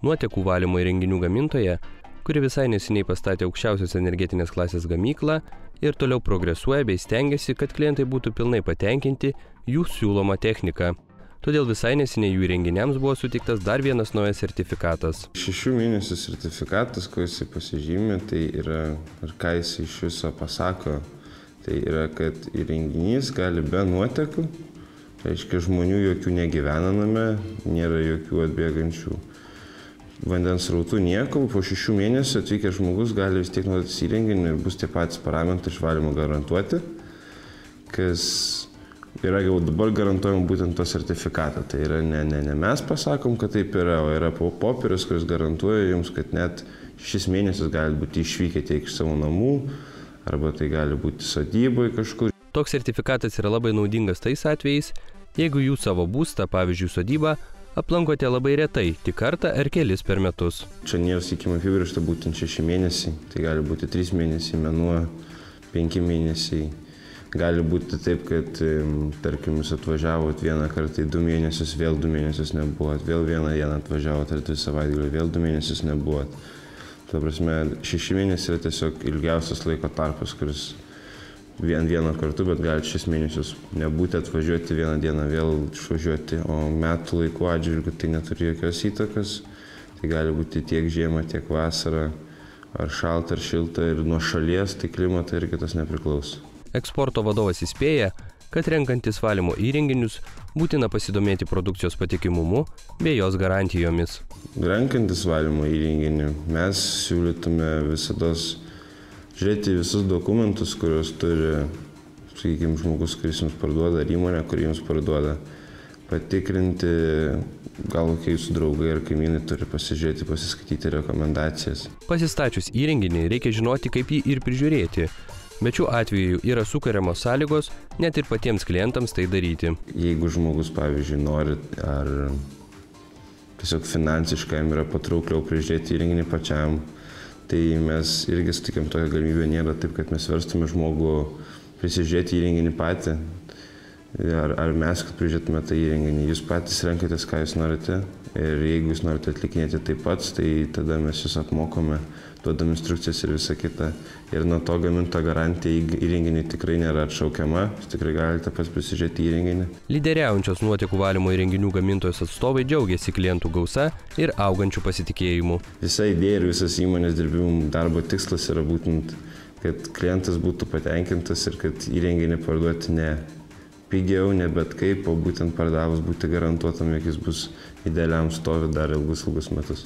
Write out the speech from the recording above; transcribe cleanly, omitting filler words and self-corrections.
Nuotekų valymo įrenginių gamintoja, kuri visai neseniai pastatė aukščiausios energetinės klasės gamyklą ir toliau progresuoja bei stengiasi, kad klientai būtų pilnai patenkinti jų siūloma technika. Todėl visai neseniai jų įrenginiams buvo suteiktas dar vienas naujas sertifikatas. 6 mėnesių sertifikatas, ko jisai pasižymė, tai yra, ir ką jisai iš viso pasako, tai yra, kad įrenginys gali be nuotekų, reiškia žmonių jokių negyvena name, nėra jokių atbėgančių vandens srautų nieko, po 6 mėnesių atvykęs žmogus gali vis tiek naudotis įrenginį ir bus tie patys parametrai išvalymo garantuoti, kas yra jau dabar garantuojama būtent to sertifikatą. Tai yra ne mes pasakom, kad taip yra, o yra popierius, kuris garantuoja jums, kad net 6 mėnesius gali būti išvykę tiek iš savo namų, arba tai gali būti sodyboje kažkur. Toks sertifikatas yra labai naudingas tais atvejais, jeigu jūs savo būstą, pavyzdžiui, sodybą, aplankote labai retai, tik kartą ar kelis per metus. Čia nėra, sakykime, apibrėžta būtent 6 mėnesiai, tai gali būti 3 mėnesiai, mėnuo, 5 mėnesiai. Gali būti taip, kad, tarkim, jūs atvažiavot vieną kartą į 2 mėnesius, vėl 2 mėnesius nebuvot, vėl vieną dieną atvažiavot, ar 2 savaitgalį, vėl 2 mėnesius nebuvot. Ta prasme, 6 mėnesiai yra tiesiog ilgiausias laiko tarpas, kuris vienu kartu, bet galite 6 mėnesius nebūti, atvažiuoti vieną dieną, vėl išvažiuoti, o metų laikų atžvilgiu tai neturi jokios įtakos. Tai gali būti tiek žiemą, tiek vasarą, ar šalta, ar šilta, ir nuo šalies, tai klimato irgi tas nepriklauso. Eksporto vadovas įspėja, kad renkantis valymo įrenginius būtina pasidomėti produkcijos patikimumu bei jos garantijomis. Renkantis valymo įrenginį mes siūlytume visados žiūrėti visus dokumentus, kuriuos turi, sakykime, žmogus, kuris jums parduoda, ar įmonė, kuri jums parduoda. Patikrinti, gal kokie jūsų draugai ar kaimynai turi pasižiūrėti, pasiskaityti rekomendacijas. Pasistačius įrenginį reikia žinoti, kaip jį ir prižiūrėti. Bet šiuo atveju yra sukuriamos sąlygos net ir patiems klientams tai daryti. Jeigu žmogus, pavyzdžiui, nori ar tiesiog finansiškai jam yra patraukliau prižiūrėti įrenginį pačiam, tai mes irgi sutikėm tokią galimybę, nėra taip, kad mes verstume žmogų prisižiūrėti įrenginį patį, ar mes, kad prižiūrėtume tą įrenginį. Jūs patys renkatės, ką jūs norite, ir jeigu jūs norite atlikinėti taip pats, tai tada mes jūs apmokome, duodam instrukcijas ir visą kitą. Ir nuo to gaminto garantija įrenginį tikrai nėra atšaukiama, jūs tikrai galite pats prisižiūrėti įrenginį. Lyderiaujančios nuotekų valymo įrenginių gamintojos atstovai džiaugiasi klientų gausa ir augančių pasitikėjimų. Visa idėja ir visas įmonės dirbimų darbo tikslas yra būtent, kad klientas būtų patenkintas ir kad įrenginį parduoti ne pigiau, ne bet kaip, o būtent pardavus būti garantuotam, jog jis bus idealiam stovi dar ilgus metus.